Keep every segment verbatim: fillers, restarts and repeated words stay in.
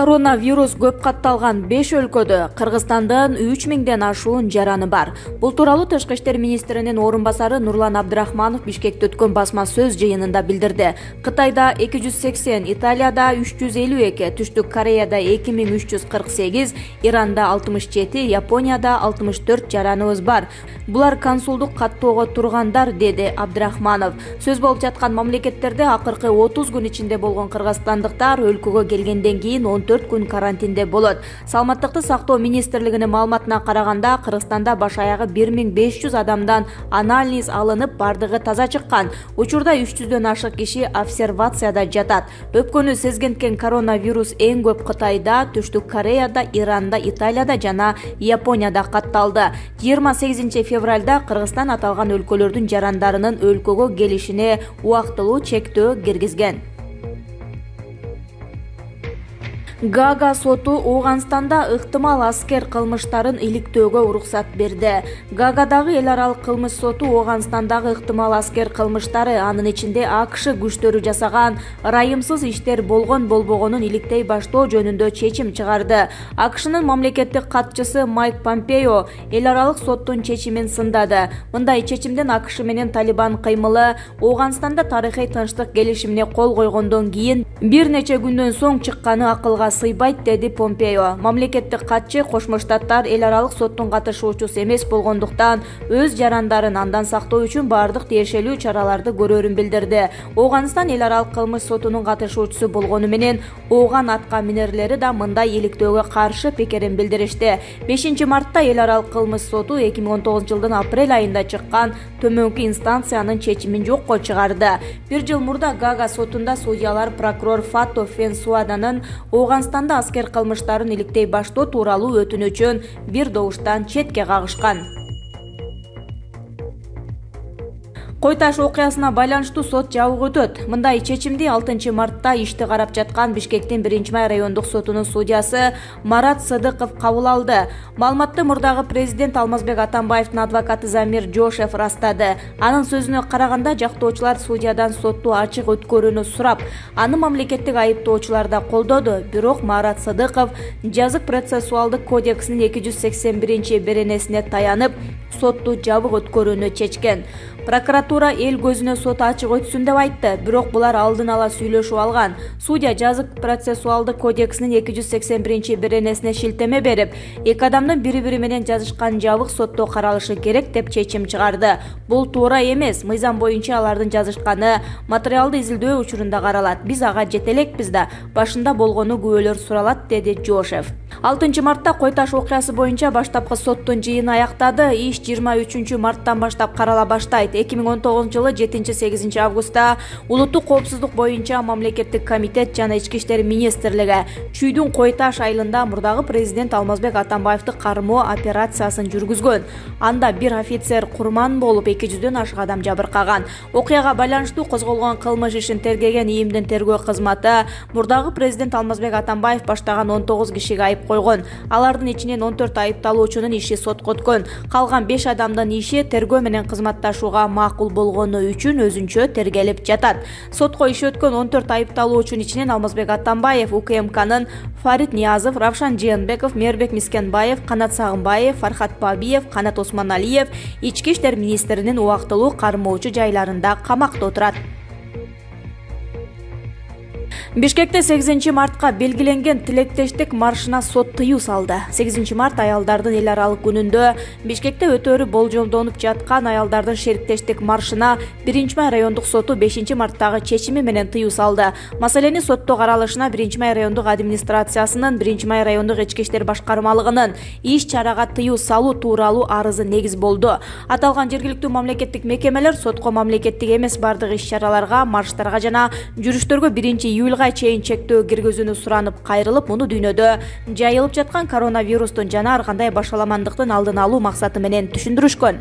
Коронавирус көп катталган беш өлкөдө Кыргызстандын үч миңден ашуун жараны бар. Бул тууралуу Тышкы иштер министринин орун басары Нурлан Абдрахманов Бишкекте өткөн басма сөз жыйынында билдирди. Кытайда эки жүз сексен, Италияда үч жүз элүү эки, Түштүк Кореяда эки миң үч жүз кырк сегиз, Иранда алтымыш жети, Японияда алтымыш төрт жараныбыз бар. Булар консулдук каттоого тургандар, деди Абдрахманов. Сөз болуп жаткан мамлекеттерде акыркы отуз күн ичинде болгон кыргызстандыктар өлкөгө келгенден кийин он төрт күн карантинде болот. Саламаттыкты сактоо министрлигинин маалыматына караганда, Кыргызстанда баш аягы бир миң беш жүз адамдан анализ алынып, бардыгы таза чыккан. Учурда үч жүздөн ашык киши обсервацияда жатат. Өпкөнү сезгенткен коронавирус эң көп Кытайда, Түштүк Кореяда, Иранда, Италияда жана Японияда катталды. жыйырма сегизинчи февралда Кыргызстан аталган өлкөлөрдүн жарандарынын өлкөгө келишине убактылуу чектөө киргизген. Гага соту Ооганстанда ыктымал аскер кылмыштарын иликтөөгө уруксат берди. Гагадагы эл аралык кылмыш соту Ооганстандагы ыктымал аскер кылмыштары, анын ичинде АКШ күчтөрү жасаган ырайымсыз иштер болгон болбогонун иликтей баштоо жөнүндө чечим чыгарды. АКШнын мамлекеттик катчысы Майк Помпео эл аралык соттун чечимин сындады. Мындай чечимден АКШ менен Талибан кыймылы Ооганстанда тарыхый тынчтык келишимине кол койгондон кийин бир нече күндөн соң чыкканы акылга сыйбайт, деди Помпео. Мамлекеттик катчы Кошмо Штаттар эл аралык соттун катышуучусу эмес болгондуктан өз жарандарын андан сактоо үчүн бардык тиешелүү чараларды көрөрүн билдирди. Ооганстан эл аралык кылмыш сотунун катышуучусу болгону менен Ооган атка минерлери да мындай иликтөөгө каршы пикирин билдиришти. бешинчи мартта эл аралык кылмыш соту эки миң он тогузунчу жылдын апрель айында чыккан төмөнкү инстанциянын чечимин жокко чыгарды. Бир жыл мурда Гага сотунда судьялар прокурор Фато Фенсуаданын Ооганстанда аскер кылмыштарын иликтей баштоо тууралуу өтүнүчүн бир добуштан четке кагышкан. Кой Таш окуясына байланыштуу сот жабык өтөт. Мындай чечимди алтынчы мартта ишти карап жаткан Бишкектин биринчи май райондук сотунун судьясы Марат Сыдыков кабыл алды. Маалыматты мурдагы президент Алмазбек Атамбаевдин адвокаты Замир Жошев растады. Анын сөзүнө караганда, жактоочулар судьядан сотту ачык өткөрүүнү сурап, аны мамлекеттик айыптоочулар да колдоду. Бирок Марат Сыдыков жазык процессуалдык кодексинин эки жүз сексен биринчи беренесине таянып, сотту жабык өткөрүүнү чечкен. Прокуратура эл көзүнө сот ачык өтсүн деп айтты, бирок булар алдын ала сүйлөшүп алган. Судья жазык процессуалдык кодексинин эки жүз сексен биринчи беренесине шилтеме берип, эки адамдын бири-бири менен жазышкан жабык сотто каралышы керек деп чечим чыгарды. Бул туура эмес. Мыйзам боюнча алардын жазышканы материалды изилдөө учурунда каралат. Биз ага жете элекпиз да, башында болгону күбөлөр суралат, деди Жошев. алтынчы мартта Кой Таш окуясы боюнча баштапкы соттун жыйыны аяктады. Иш жыйырма үчүнчү марттан баштап карала баштайт. эки миң он тогузунчу жылы жетинчи сегизинчи августта улуттук коопсуздук боюнча мамлекеттик комитет жана ички иштер министрлиги Чүйдүн Кой Таш айылында мурдагы президент Алмазбек Атамбаевди кармоо операциясын жүргүзгөн. Анда бир офицер курман болуп, эки жүздөн ашык адам жабыркаган. Окуяга байланыштуу козголгон кылмыш ишин тергеген ИИМдин тергөө кызматы мурдагы президент Алмазбек Атамбаев баштаган он тогуз кишиге айып койгон. Алардын ичинен он төрт айыпталуучунун иши сотко өткөн. Калган беш адамдын иши тергөө менен кызматташууга макул болгону үчүн өзүнчө тергелип жатат. Сотко иши өткөн он төрт айыпталуучунун ичинен Алмазбек Атамбаев, УКМКнын Фарид Ниязов, Равшан Жыйынбеков, Мербек Мискенбаев, Канат Сагынбаев, Фархат Бабиев, Канат Осмоналиев ички иштер министринин убактылуу кармоочу жайларында камакта отурат. Бишкекте сегизинчи мартка белгиленген тилектештик маршына сот тыюу салды. сегизинчи март аялдардын эл аралык күнүндө Бишкекте өтөөрү болжолдонуп жаткан аялдардын шериктештик маршына биринчи май райондук соту бешинчи марттагы чечими менен тыюу салды. Маселени сотто каралышына биринчи май райондук администрациясынын биринчи май райондук ички иштер башкармалыгынын иш чарага тыюу салуу тууралуу арызы негиз болду. Аталган жергиликтүү мамлекеттик мекемелер сотко мамлекеттик эмес бардык иш чараларга, марштарга жана жүрүштөргө биринчи июлга чейин чектөө киргизүүнү суранып кайрылып, муну дүйнөдө жайылып жаткан коронавирустун жана ар кандай башаламандыктын алдын алуу максаты менен түшүндүрүшкөн.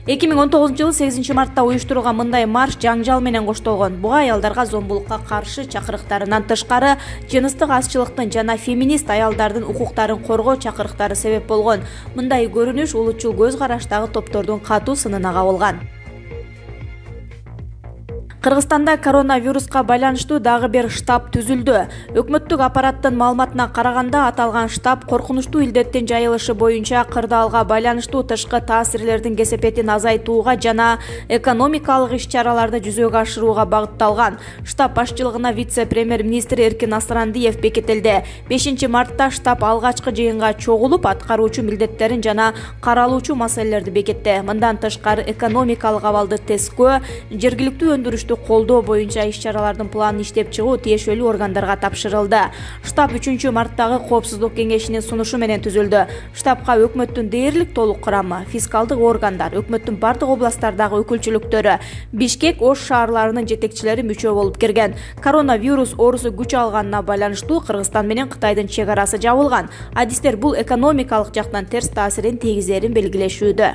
эки миң он тогузунчу жылы сегизинчи мартта уюштурулган мындай марш жаңжал менен коштолгон. Буга аялдарга зомбулукка каршы чакырыктарынан тышкары жыныстык азчылыктын жана феминист аялдардын укуктарын коргоо чакырыктары себеп болгон. Мындай көрүнүш улутчул көз караштагы топтордун катуу сынына кабылган. Кыргызстанда коронавируска байланыштуу дагы бир штаб түзүлдү. Өкмөттүк аппараттын маалыматына караганда, аталган штаб коркунучтуу илдеттин жайылышы боюнча кырдаалга байланыштуу тышкы таасирлердин кесепетин азайтууга жана экономикалык иш-чараларды жүзөгө ашырууга багытталган. Штаб башчылыгына вице-премьер-министр Эркин Асырандиев бекитилди. бешинчи мартта штаб алгачкы жыйынга чогулуп, аткаруучу милдеттерин жана каралуучу маселелерди бекитти. Мындан тышкары экономикалык абалды тескөө, жергиликтүү өндүрүштү колдоо боюнча иш-чаралардын планын иштеп чыгуу тиешелүү органдарга тапшырылды. Штаб үчүнчү марттагы Коопсуздук кеңешинин сунушу менен түзүлдү. Штабка өкмөттүн дээрлик толук курамы, фискалдык органдар, өкмөттүн бардык областтардагы өкүлчүлүктөрү, Бишкек, Ош шаарларынын жетекчилери мүчө болуп кирген. Коронавирус оорусу күч алганына байланыштуу Кыргызстан менен Кытайдын чек арасы жабылган. Адистер бул экономикалык жактан терс таасирин тийгизерин белгилешүүдө.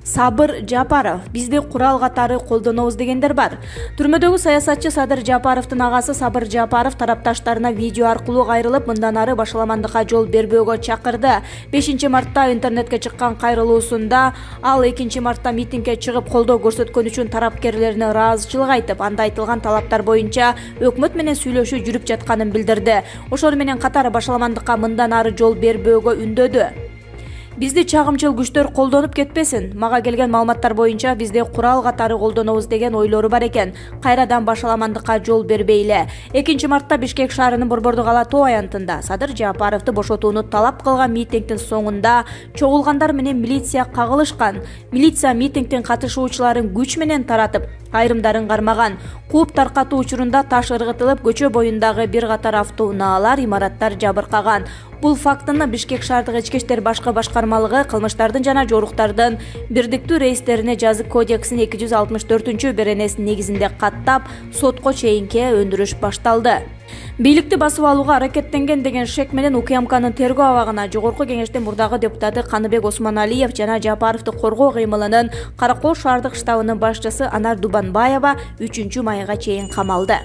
Сабыр Жапаров: бизди курал катары колдонобуз дегендер бар. Түрмөдөгү саясатчы Садыр Жапаровдун агасы Сабыр Жапаров тарапташтарына видео аркылуу кайрылып, мындан ары башаламандыкка жол бербөөгө чакырды. бешинчи мартта интернетке чыккан кайрылуусунда ал экинчи мартта митингге чыгып колдоо көрсөткөн үчүн тарапкерлерине ыраазычылык айтып, анда айтылган талаптар боюнча өкмөт менен сүйлөшүү жүрүп жатканын билдирди. Ошону менен катар башаламандыкка мындан ары жол бербөөгө үндөдү. Бизди чагымчыл күчтөр колдонуп кетпесин. Мага келген маалыматтар боюнча бизди курал катары колдонобуз деген ойлору бар экен. Кайрадан башаламандыкка жол бербейли. экинчи мартта Бишкек шаарынын Борбордук Ала Тоо аянтында Садыр Жапаровду бошотууну талап кылган митингдин соңунда чогулгандар менен милиция кагылышкан. Милиция митингдин катышуучуларын күч менен таратып, айрымдарын кармаган. Кууп таркатуу учурунда таш ыргытылып, көчө боюндагы бир катар автоунаалар, имараттар жабыркаган. Бул фактыны Бишкек шаардык ички иштер башкы башкармалыгы кылмыштардын жана жоруктардын бирдиктүү рейстерине жазык кодексинин эки жүз алтымыш төртүнчү беренесинин негизинде каттап, сотко чейинки өндүрүш башталды. Бийликти басып алууга аракеттенген деген шек менен УКМКнын тергөө абагына Жогорку Кеңештин мурдагы депутаты Каныбек Осмоналиев жана Жапаровду коргоо кыймылынын Каракол шаардык штабынын башчысы Анар Дубанбаева үчүнчү майга чейин камалды.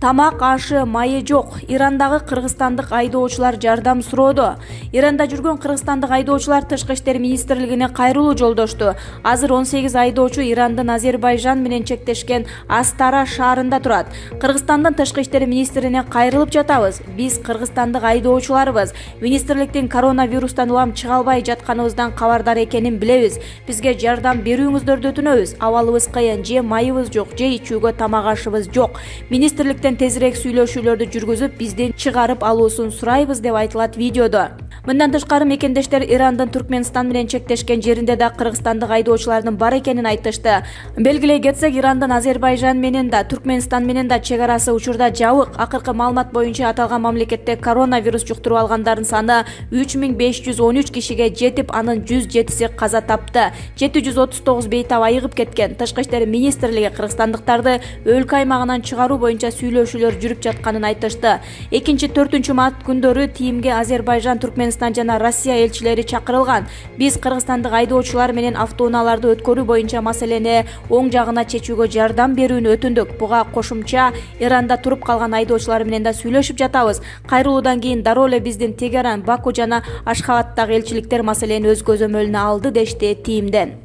Тамак ашы майы жок. Ирандагы кыргызстандык айдоочулар жардам суроодо. Иранда жүргөн кыргызстандык айдоочулар Тышкы иштер министрлигине кайрылуу жолдошту. Азыр он сегиз айдоочу Ирандын Азербайжан менен чектешкен Астара шаарында турат. Кыргызстандын Тышкы иштер министрине кайрылып жатабыз. Биз кыргызстандык айдоочуларбыз. Министрликтин коронавирустан улам чыга албай жатканыбыздан кабардар экенин билебиз. Бизге жардам берүүңүздөрдү өтүнөбүз. Абалыбыз кыйын, же майыбыз жок, же ичүүгө тамак ашыбыз жок. Министрликтен тезирээк сүйлөшүүлөрдү жүргүзүп, биздин чыгарып алуусун сурайбыз деп айтылат видеодо. Мындан тышкары мекендештер Ирандын Түркмөнстан менен чектешкен жеринде да кыргызстандык айдоочулардын бар экенин айтышты. Белгилей кетсек, Ирандын Азербайжан менен да, Түркмөнстан менен да чек арасы учурда жабык. Акыркы маалымат боюнча аталган мамлекетте коронавирус жуктуруп алгандардын саны үч миң беш жүз он үч кишиге жетип, анын жүз жетиси каза тапты. жети жүз отуз тогуз бейтап айыгып кеткен. Тышкы иштер министрлиги кыргызстандыктарды өлкө аймагынан чыгаруу боюнча сүйлөшүүлөр жүрүп жатканын айтышты. экинчи төртүнчү март күндөрү тимге Азербайжан, Түркмөнстан жана Россия элчилери чакырылган. Биз кыргызстандык айдоочулар менен автоунааларды өткөрүү боюнча маселени оң жагына чечүүгө жардам берүүнү өтүндүк. Буга кошумча Иранда туруп калган айдоочулар менен да сүйлөшүп жатабыз. Кайрылуудан кийин дароо эле биздин Тегеран, Баку жана Ашхабадтагы элчиликтер маселени өз көзөмөлүнө алды, дешти тимден.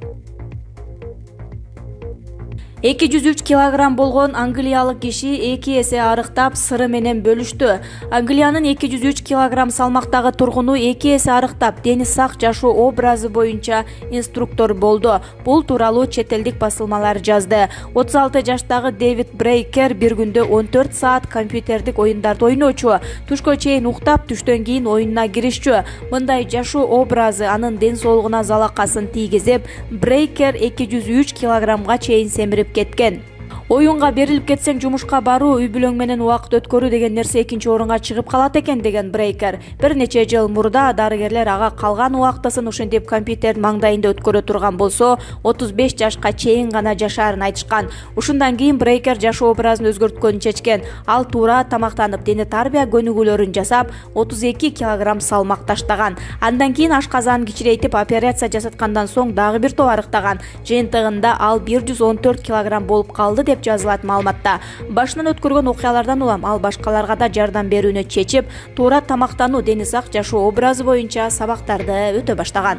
эки жүз үч килограмм болгон англиялык киши эки эсе арыктап, сыры менен бөлүштү. Англиянын эки жүз үч килограмм салмактагы тургуну эки эсе арыктап, дени сак жашоо образы боюнча инструктор болду. Бул тууралуу чет элдик басылмалар жазды. отуз алты жаштагы Дэвид Брейкер бир күндө он төрт саат компьютердик оюндарды ойночу. Түшкө чейин уктап, түштөн кийин оюнуна киришчү. Мындай жашоо образы анын ден соолугуна залакасын тийгизип, Брейкер эки жүз үч килограммга чейин семирип кеткен. Оюнга берилип кетсең жумушка баруу, үй бүлөң менен убакыт өткөрүү деген нерсе экинчи орунга чыгып калат экен деген Брейкер. Бир нече жыл мурда дарыгерлер ага калган убактысын ушинтип компьютердин маңдайында өткөрө турган болсо, отуз беш жашка чейин гана жашаарын айтышкан. Ушундан кийин Брейкер жашоо образын өзгөрткөнүн чечкен. Ал туура тамактанып, дене тарбия көнүгүүлөрүн жасап, отуз эки килограмм салмак таштаган. Андан кийин ашказанын кичирейтип операция жасаткандан соң дагы бир топ арыктаган. Жыйынтыгында ал бир жүз он төрт килограмм болуп калды деп жазылат маалыматта. Башынан өткөргөн окуялардан улам ал башкаларга да жардам берүүнү чечип, туура тамактануу, дени сак жашоо образы боюнча сабактарды өтө баштаган.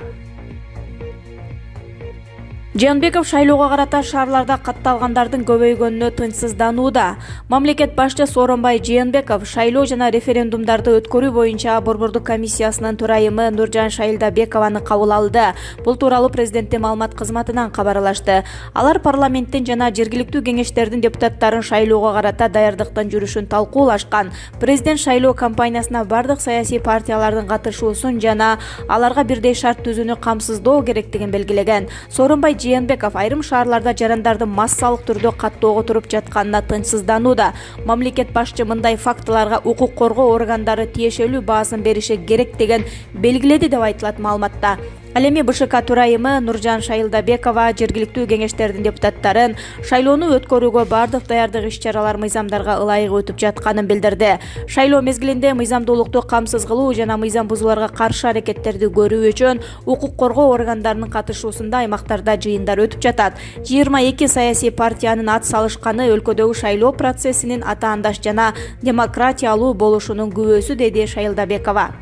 Жээнбеков шайлоого карата шаарларда катталгандардын көбөйгөнүнө тынчсызданууда. Мамлекет башчы Сооронбай Жээнбеков шайлоо жана референдумдарды өткөрүү боюнча Борбордук комиссиясынын төрайымы Нуржан Шайлдабекованы кабыл алды. Бул тууралуу президенттин маалымат кызматынан кабарлашты. Алар парламенттин жана жергиликтүү кеңештердин депутаттарын шайлоого карата даярдыктын жүрүшүн талкуулашкан. Президент шайлоо кампаниясына бардык саясий партиялардын катышуусун жана аларга бирдей шарт түзүүнү камсыздоо керектигин белгилеген. Сооронбай Жээнбеков айрым шаарларда жарандардын массалык түрдө каттоого туруп жатканына тынчсызданууда. Мамлекет башчы мындай фактыларга укук коргоо органдары тиешелүү баасын бериши керек деген белгиледи деп айтылат маалыматта. Ал эми БШК төрайымы Нуржан Шайлдабекова жергиликтүү кеңештердин депутаттарын шайлоону өткөрүүгө бардык даярдык иш-чаралар мыйзамдарга ылайык өтүп жатканын билдирди. Шайлоо мезгилинде мыйзамдуулукту камсыз кылуу жана мыйзам бузууларга каршы аракеттерди көрүү үчүн укук коргоо органдарынын катышуусунда аймактарда жыйындар өтүп жатат. жыйырма эки саясий партиянын ат салышканы өлкөдөгү шайлоо процессинин атаандаш жана демократиялуу болушунун күбөсү, деди Шайлдабекова.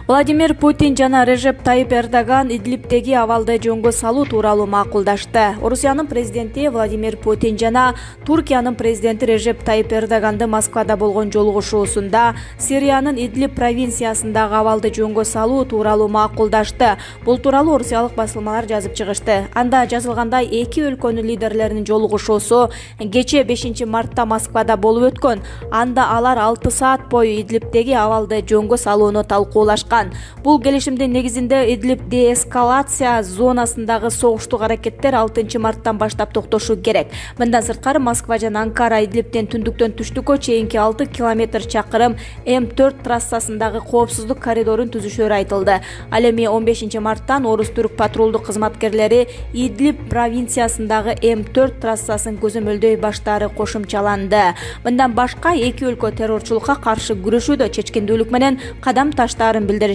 Владимир Путин жана Режеп Тайып Эрдоган Идлибдеги абалды жөнгө салуу тууралуу макулдашты. Орусиянын президенти Владимир Путин жана Туркиянын президенти Режеп Тайып Эрдоганды Москвада болгон жолугушуусунда Сириянын Идлиб провинциясындагы абалды жөнгө салуу тууралуу макулдашты. Бул тууралуу орусиялык басылмалар жазып чыгышты. Анда жазылгандай, эки өлкөнүн лидерлеринин жолугушуусу кечээ бешинчи мартта Москвада болуп өткөн. Анда алар алты саат бою Идлибдеги абалды жөнгө салууну талкуулашкан. Бул келишимдин негизинде Идлиб деэскалация зонасындагы согуштук аракеттер алтынчы марттан баштап токтошу керек. Мындан сырткары Москва жана Анкара Идлибден түндүктөн түштүккө чейинки алты километр чакырым М төрт трассасындагы коопсуздук коридорун түзүшөрү айтылды. Ал эми он бешинчи марттан орус-түрк патрулдук кызматкерлери Идлиб провинциясындагы М төрт трассасын көзөмөлдөй баштаары кошумчаланды. Мындан башка эки өлкө террорчулукка каршы күрөшүүдө чечкиндүүлүк менен кадам таштаарын билдиришти.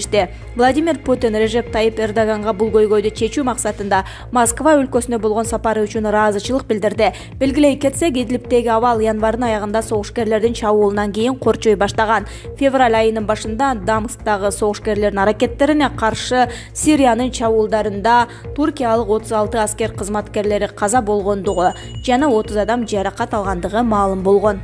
Владимир Путин Режеп Тайып Эрдоганга бул көйгөйдү чечүү максатында Москва өлкөсүнө болгон сапары үчүн ыраазычылык билдирди. Белгилей кетсек, Идлибдеги абал январдын аягында согушкерлердин чабуулунан кийин корчой баштаган. Февраль айынын башында Дамсктагы согушкерлердин аракеттерине каршы Сириянын чабуулдарында туркиялык отуз алты аскер кызматкерлери каза болгондугу жана отуз адам жаракат алгандыгы маалым болгон.